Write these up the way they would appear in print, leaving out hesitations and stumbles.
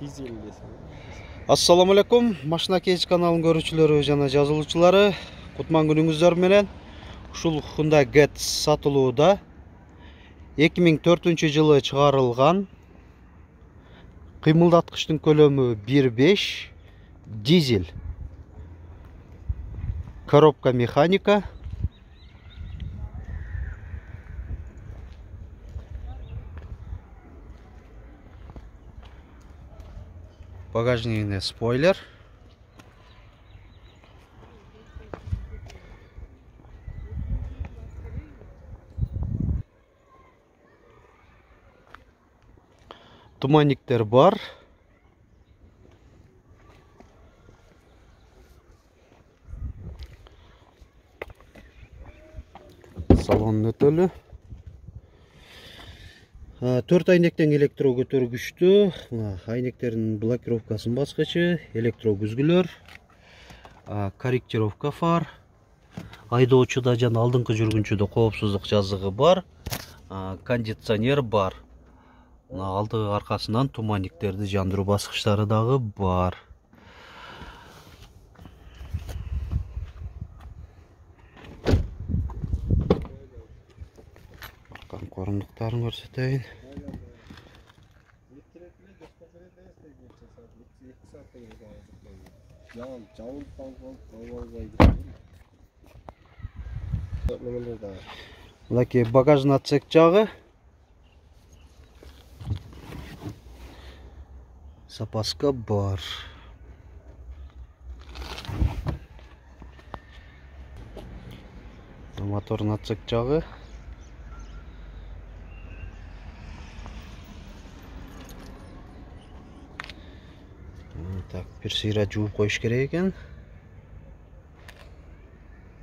Дизель десем. Ассаламу алейкум, Машина Кейс каналынын көрүүчүлөрү жана жазылуучулары. Кутман күнүңүздөр менен. Ушул Hyundai Getz сатылууда 2004-жылы чыгарылган кыймылдаткычтын көлөмү 1.5 дизель. Коробка механика. Багажнине спойлер. Туманниктер бар. Салон өтөлү. 4 айнектен электро көтөргүчтүү. Айнектердин блокировкасын баскычы, электро күзгүлөр, корректировка фар, айдоочуда жана алдыңкы жүргүнчүдө коопсуздук жазыгы бар, кондиционер бар. Алды аркасынан туманниктерди жандыруу баскычтары дагы бар. Корундуктарын көрсөтөйүн. Мынакей багажный отсек жагы. Запаска бар. Мотордун отсек жагы. Так, бир сыйра жууп коюш керек экен.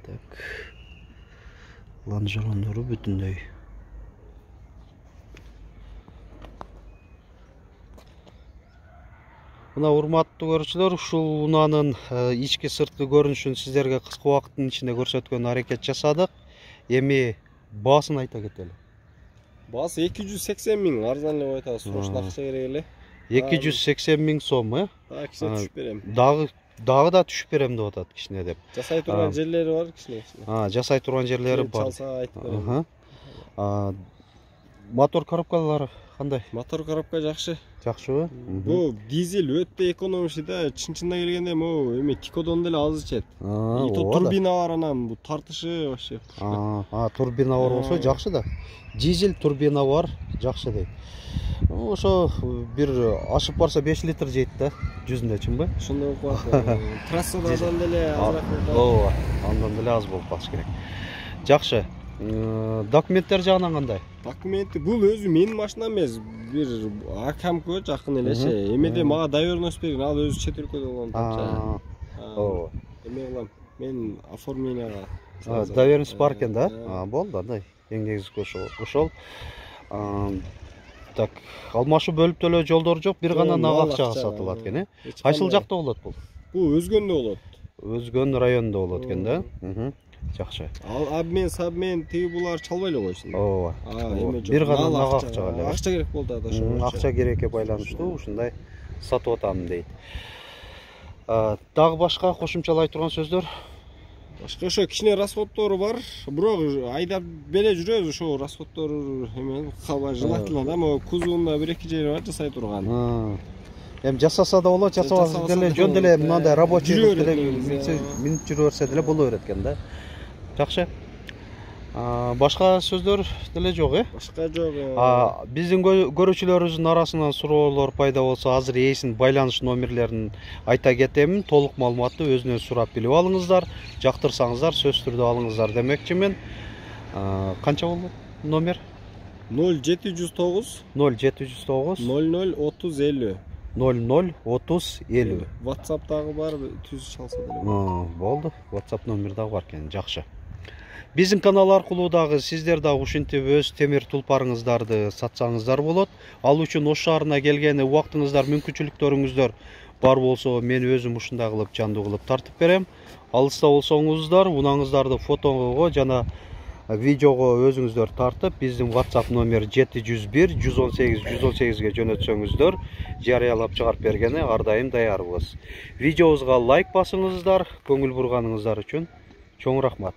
Так. Лонжерондору бүтүндөй. Мына урматтуу көрүүчүлөр, ушул унаанын ички сырткы көрүнүшүн сиздерге кыска убакыттын ичинде көрсөткөнгө аракет жасадык. Эми баасын айта кетели. Баасы 280 миң, арзан эле коет атабыз. Ошол акча керек эле. 280 миң сом, кичине түшүп берем. Дагы да түшүп берем деп атат кичине деп. Жасай турган жерлери бар кичине. Жасай турган жерлери бар. Чалса айтып берем. Мотор коробкалары кандай? Мотор коробка жакшы. Жакшыбы? Бу дизель өтө экономичный да, чын-чынына келгенде могу эми Тикодон деле аз ичет. И то турбина бар анан, бу тартышы вообще. Турбина бар болсо жакшы да. Дизель турбина бар, жакшы дейт. Ошо бир ашып барса 5 литр жейт да, жүзүндө чынбы? Ошондой болуп калат. Трассада андан деле азыраак болот. Ооба, андан деле аз болуп калыш керек. Жакшы. Документтер жагынан кандай? Документи бул өзү менин машинам эмес, бир акамкө жакын элечи. Эмеде мага доверенность берген, ал өзү чет өлкөдө болгон. Ооба. Эме кылам, мен оформленияга. Доверенность бар экен да? Болду, андай. Эң негизги ошол. Так, алмашуу бөлүп төлөө жолдор жок, бир гана нак акчага сатылат экен, Кайсыл жакта болот бул? Бул Өзгөндө болот. Өзгөн районунда болот экен да? Жакшы. Абмен тиги булар чалбай эле койсун. Ооба. Эме жок. Бир гана нак акчага эле. Акча керек болду ада ошо. Акча керекке байланыштуу ушундай сатып атам дейт. Дагы башка кошумчалай турган сөздөр? Башка ошо кичине расходтору бар, бирок айдап беле жүрөбүз, ошо расходтору эме калбай желательно да, могу кузовунда 1-2 жери бар жасай турган. Эми жасаса да болот, жасабаса деле жөн деле мындай рабочий деле минут жүрө берсе деле боло берет экен да. Жакшы. Башка сөздөр деле жок, Башка жок. Биздин көрүүчүлөрүбүздүн арасынан суроолор пайда болсо, азыр ээсинин байланыш номерлерин айта кетемин. Толук маалыматты өзүнөн сурап билип алыңыздар. Жактырсаңыздар сөзсүз түрдө алыңыздар демекчимин. Канча болду номер? 0709 0709 00 30 50. 00 30 50. WhatsApp дагы бар, түз чалса деле. Болду. WhatsApp номер дагы бар экен. Жакшы. Биздин канал аркылуу дагы сиздер дагы ушинтип өз темир тулпарыңыздарды сатсаңыздар болот. Ал үчүн Ош шаарына келген убактыңыздар, мүмкүнчүлүктөрүңүздөр бар болсо, мен өзүм ушундай кылып жандуу кылып тартып берем. Алыста болсоңуздар, унаңыздарды фотого жана видеого өзүңүздөр тартып, биздин WhatsApp номер 701 118 118ге жөнөтсөңүздөр жарыялап чыгарып бергене ар дайым даярбыз. Видеобузга лайк басыңыздар, көңүл бурганыңыздар үчүн чоң рахмат.